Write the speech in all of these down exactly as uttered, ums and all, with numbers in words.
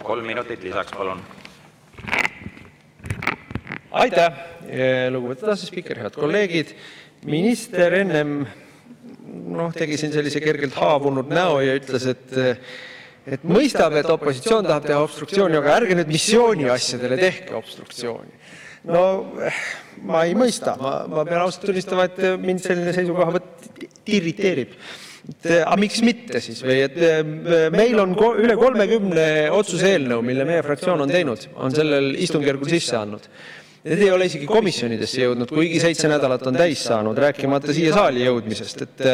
Kolm minutit lisaks, palun. Aitäh, lugupeetud asespiiker, head kolleegid. Minister ennem noh, tegi siin sellise kergelt haavunud näo ja ütles, et, et mõistab, et opositsioon tahab teha obstruktsiooni, aga ärge nüüd missiooni asjadele tehke obstruktsiooni. No ma ei mõista, ma, ma pean ausalt tunnistama, et mind selline seisukohavõtt irriteerib. Aga miks mitte siis? Või et meil on üle kolmekümne otsuse eelnõu, mille meie fraktsioon on teinud, on sellel istungjärgul sisse andnud. Need ei ole isegi komisjonidesse jõudnud, kuigi seitse nädalat on täis saanud, rääkimata siia saali jõudmisest. Et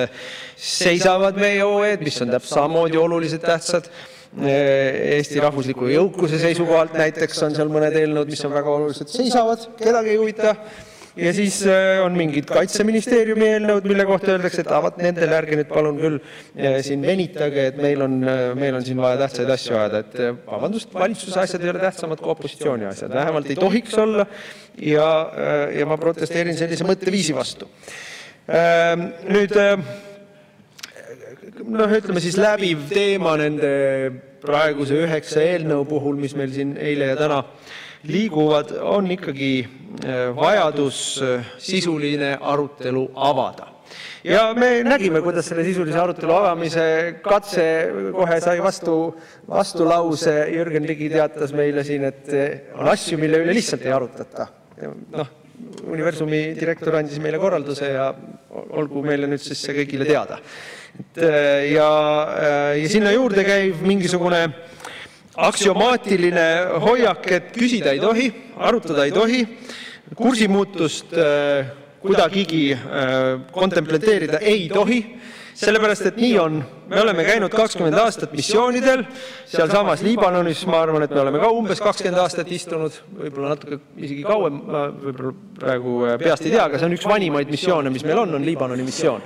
seisavad meie O E-d, mis on täpselt samamoodi olulised tähtsad. Eesti rahvusliku jõukuse seisukohalt näiteks on seal mõned eelnõud, mis on väga olulised, seisavad, kedagi ei huvita. Ja siis on mingid kaitseministeeriumi eelnõud, mille kohta öeldakse, et avat nendel ärge nüüd palun küll siin venitage, et meil on, meil on siin vaja tähtsaid asju ajada. Et vabandust, valitsuse asjad ei ole tähtsamad kui opositsiooni asjad. Vähemalt ei tohiks olla ja, ja ma protesteerin sellise mõtteviisi vastu. Nüüd, noh, ütleme siis läbiv teema nende praeguse üheksa eelnõu puhul, mis meil siin eile ja täna liiguvad, on ikkagi vajadus sisuline arutelu avada. Ja me nägime, kuidas selle sisulise arutelu avamise katse kohe sai vastu, vastu lause. Jürgen Ligi teatas meile siin, et on asju, mille üle lihtsalt ei arutata. Noh, Universumi direktor andis meile korralduse ja olgu meile nüüd siis see kõigile teada. Et, ja, ja sinna juurde käib mingisugune aksiomaatiline hoiak, et küsida ei tohi, arutada ei tohi, kursimuutust kuidagigi kontempleteerida ei tohi, sellepärast, et nii on. Me oleme käinud kakskümmend aastat missioonidel, seal samas Liibanonis, ma arvan, et me oleme ka umbes kakskümmend aastat istunud, võib-olla natuke isegi kauem, võib-olla praegu peast ei tea, aga see on üks vanimaid missioone, mis meil on, on Liibanoni missioon.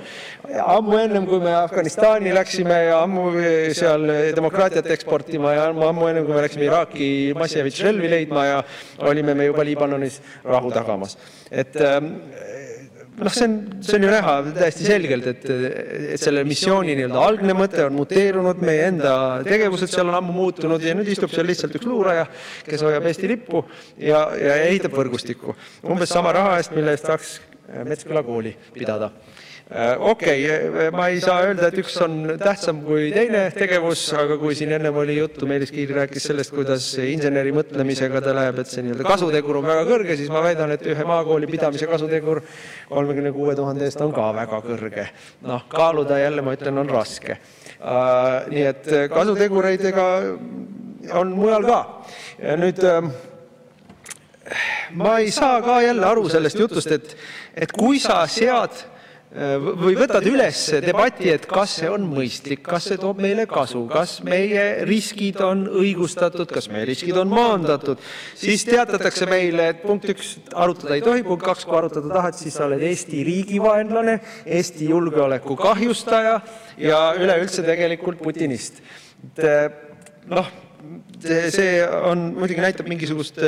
Ammu ennem, kui me Afganistani läksime ja ammu seal demokraatiat eksportima ja ammu ennem, kui me läksime Iraaki Massevitš relvi leidma ja olime me juba Liibanonis rahu tagamas. Et noh, see on, see on ju näha täiesti selgelt, et, et selle missiooni nii-öelda algne mõte on muteerunud, meie enda tegevused seal on ammu muutunud ja nüüd istub seal lihtsalt üks luuraja, kes hoiab Eesti lippu ja, ja ehitab võrgustikku. Umbes sama raha eest, mille eest saaks Metsküla kooli pidada. Okei, okay, ma ei saa öelda, et üks on tähtsam kui teine tegevus, aga kui siin ennem oli juttu, Meelis Kiil rääkis sellest, kuidas inseneri mõtlemisega ta läheb, et see nii-öelda kasutegur on väga kõrge, siis ma väidan, et ühe maakooli pidamise kasutegur kolmekümne kuue tuhande eest on ka väga kõrge. Noh, kaaluda jälle, ma ütlen, on raske. Uh, nii et kasutegureidega on mujal ka. Ja nüüd uh, ma ei saa ka jälle aru sellest jutust, et, et kui sa sead või võtad üles debati, et kas see on mõistlik, kas see toob meile kasu, kas meie riskid on õigustatud, kas meie riskid on maandatud, siis teatatakse meile, et punkt üks arutada ei tohi, punkt kaks, kui arutada tahad, siis sa oled Eesti riigi vaenlane, Eesti julgeoleku kahjustaja ja üleüldse tegelikult putinist. Noh, see on, muidugi näitab mingisugust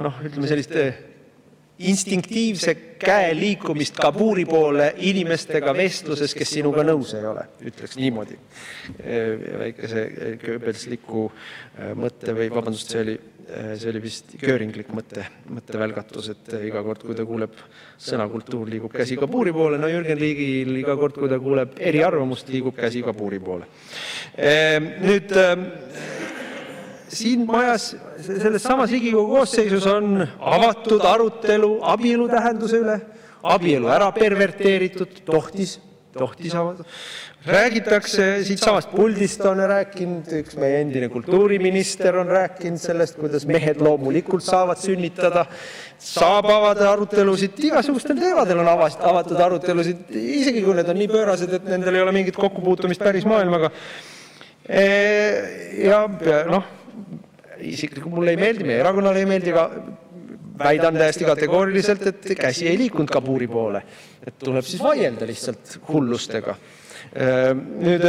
noh, ütleme sellist instinktiivse käe liikumist Kabuli poole inimestega vestluses, kes sinuga nõus ei ole, ütleks niimoodi. Väikese kööbelsliku mõtte või vabandust, see oli, see oli vist kööringlik mõtte, mõttevälgatus, et iga kord, kui ta kuuleb sõnakultuur, liigub käsi Kabuli poole, no Jürgen Ligil iga kord, kui ta kuuleb eriarvamust, liigub käsi Kabuli poole. Nüüd siin majas, selles samas Riigikogu koosseisus on avatud arutelu abielu tähenduse üle, abielu ära perverteeritud, tohtis, tohtis avada. Räägitakse, siit samast puldist on rääkinud, üks meie endine kultuuriminister on rääkinud sellest, kuidas mehed loomulikult saavad sünnitada, saab avada arutelusid, igasugustel teemadel on avatud arutelusid, isegi kui need on nii pöörased, et nendel ei ole mingit kokkupuutumist päris maailmaga. Ja noh, isiklikult mulle ei meeldi, meie erakonnale ei meeldi, aga väidan täiesti kategooriliselt, et käsi ei liikunud Kabuli poole. Et tuleb siis vaielda lihtsalt hullustega. Nüüd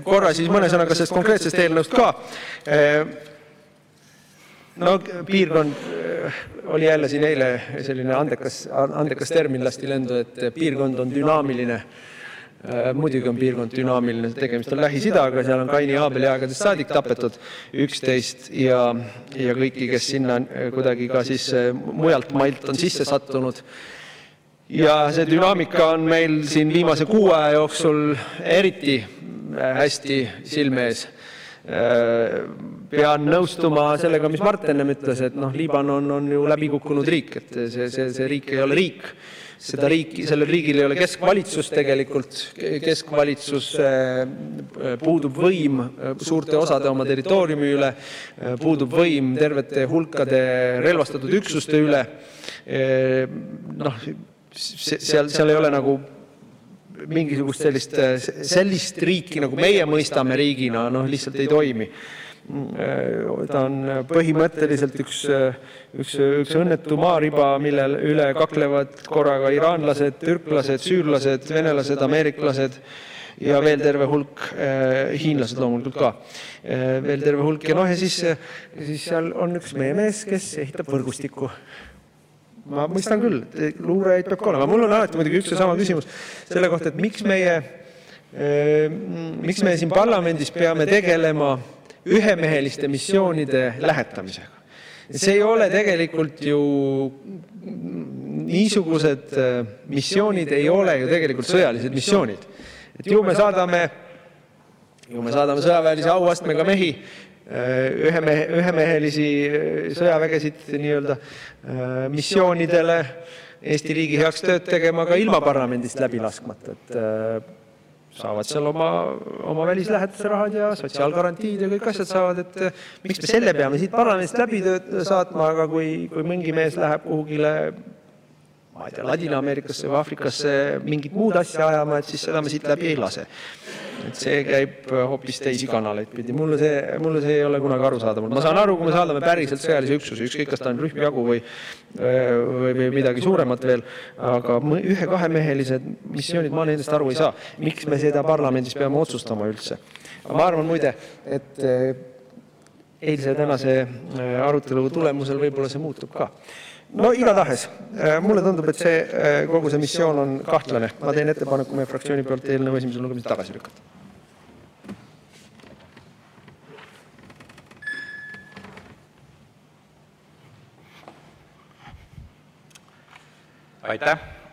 korra siis mõne sõnaga sellest konkreetsest eelnõust ka. No piirkond oli jälle siin eile selline andekas, andekas termin lasti lendu, et piirkond on dünaamiline Muidugi on piirkond dünaamiline, tegemist on Lähis-Idaga, seal on Kaini Aabeli aegadest saadik tapetud üksteist ja, ja kõiki, kes sinna kuidagi ka siis mujalt mailt on sisse sattunud. Ja see dünaamika on meil siin viimase kuu aja jooksul eriti hästi silme ees. Pean nõustuma sellega, mis Mart ennem ütles, et noh, Liibanon on ju läbikukkunud riik, et see, see, see riik ei ole riik. Seda riiki, sellel riigil ei ole keskvalitsus tegelikult, keskvalitsus puudub võim suurte osade oma territooriumi üle, puudub võim tervete hulkade relvastatud üksuste üle. Noh, seal, seal ei ole nagu mingisugust sellist, sellist riiki, nagu meie mõistame riigina, noh, lihtsalt ei toimi. Ta on põhimõtteliselt üks, üks, üks õnnetu maariba, mille üle kaklevad korraga iraanlased, türklased, süürlased, venelased, ameeriklased ja veel terve hulk, hiinlased loomulikult ka, veel terve hulk. Ja noh, ja siis, siis seal on üks meie mees, kes ehitab võrgustikku. Ma mõistan küll, luurajaid peab ka olema. Mul on alati muidugi üks ja sama küsimus selle kohta, et miks meie, miks me siin parlamendis peame tegelema ühemeheliste missioonide lähetamisega. See ei ole tegelikult ju, niisugused missioonid ei ole ju tegelikult sõjalised missioonid. Et ju me saadame, ju me saadame sõjaväelise auastmega mehi, ühemehe, ühemehelisi sõjavägesid nii-öelda missioonidele Eesti riigi heaks tööd tegema ka ilma parlamendist läbi laskmata, et saavad seal oma, oma välislähetuse rahad ja sotsiaalgarantiid ja kõik asjad saavad, et miks me selle peame siit parlamendist läbi saatma, aga kui, kui mingi mees läheb kuhugile ma ei tea, Ladina-Ameerikasse või Afrikasse mingit muud asja ajama, et siis seda me siit läbi ei lase. Et see käib hoopis teisi kanaleid pidi. Mulle see, mulle see ei ole kunagi aru saada. Ma saan aru, kui me saadame päriselt sõjalise üksuse, ükskõik kas ta on rühmjagu või, või, või midagi suuremat veel, aga ühe-kahemehelised missioonid ma nendest aru ei saa. Miks me seda parlamendis peame otsustama üldse? Ma arvan muide, et eilse tänase arutelu tulemusel võib-olla see muutub ka. No igatahes, mulle tundub, et see, kogu see missioon on kahtlane. Ma teen ettepaneku meie fraktsiooni poolt eelnõu esimesel lugemisel tagasi lükata. Aitäh!